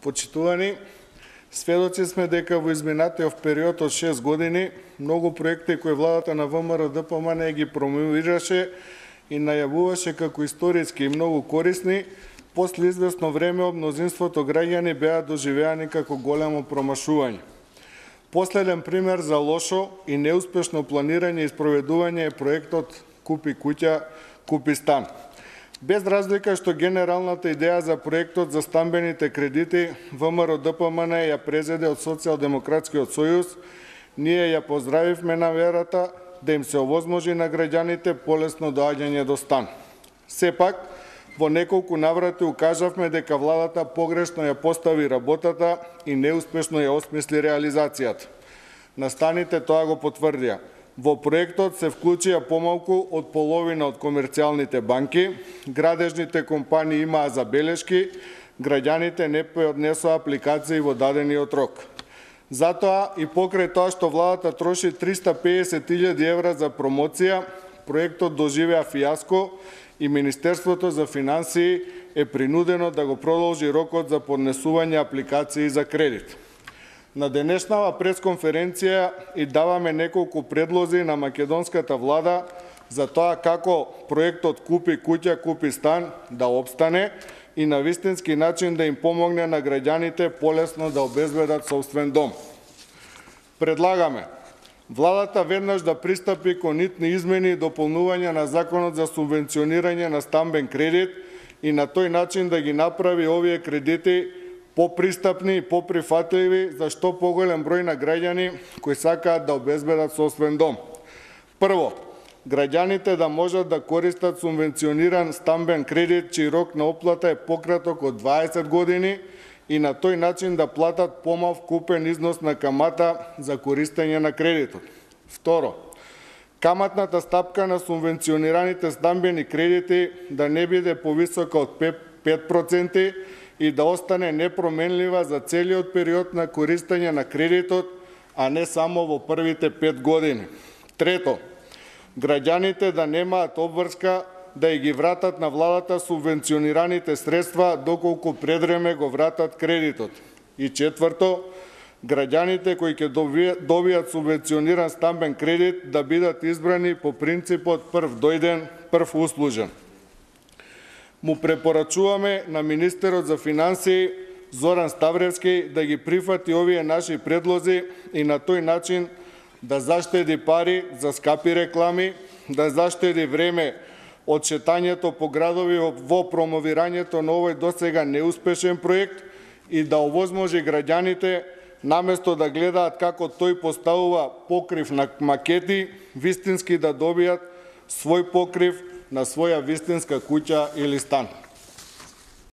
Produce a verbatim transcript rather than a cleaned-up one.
Почитувани, сведоци сме дека во изминатиот период од шест години многу проекти кои владата на ВМРО-ДПМН ги промовираше и најавуваше како историски и многу корисни, после известно време од мнозинството граѓани беа доживеани како големо промашување. Последен пример за лошо и неуспешно планирање и спроведување е проектот Купи куќа, купи стан. Без разлика што генералната идеја за проектот за стамбените кредити ВМРО-ДПМН ја презеде од Социјалдемократскиот сојуз, ние ја поздравивме наверата да им се овозможи на граѓаните полесно доаѓање до стан. Сепак, во неколку наврати укажавме дека владата погрешно ја постави работата и неуспешно ја осмисли реализацијата. Настаните тоа го потврдија. Во проектот се вклучија помалку од половина од комерцијалните банки, градежните компании имаа забелешки, граѓаните не поднесоа апликации во дадениот рок. Затоа и покрај тоа што владата троши триста педесет илјади евра за промоција, проектот доживеа фијаско и Министерството за финансии е принудено да го продолжи рокот за поднесување апликации за кредит. На денешнава пресконференција и даваме неколку предлози на македонската влада за тоа како проектот Купи куќа, купи стан да опстане и на вистински начин да им помогне на граѓаните полесно да обезбедат собствен дом. Предлагаме владата веднаш да пристапи кон итни измени и дополнување на Законот за субвенционирање на стамбен кредит и на тој начин да ги направи овие кредити попристапни и поприфатливи за што поголем број на граѓани кои сакаат да обезбедат собствен дом. Прво, граѓаните да можат да користат субвенциониран стамбен кредит чиј рок на оплата е пократок од дваесет години и на тој начин да платат помал купен износ на камата за користење на кредитот. Второ, каматната стапка на субвенционираните стамбени кредити да не биде повисока од пет проценти и да остане непроменлива за целиот период на користење на кредитот, а не само во првите пет години. Трето, граѓаните да немаат обврска да ги вратат на владата субвенционираните средства доколку предвреме го вратат кредитот. И четврто, граѓаните кои ќе добијат субвенциониран стамбен кредит да бидат избрани по принципот прв дојден, прв услужен. Му препорачуваме на министерот за финансии Зоран Ставревски да ги прифати овие наши предлози и на тој начин да заштеди пари за скапи реклами, да заштеди време од шетањето по градови во промовирањето на овој досега неуспешен проект и да овозможи граѓаните наместо да гледаат како тој поставува покрив на макети, вистински да добијат свој покрив на своја вистинска куќа или стан.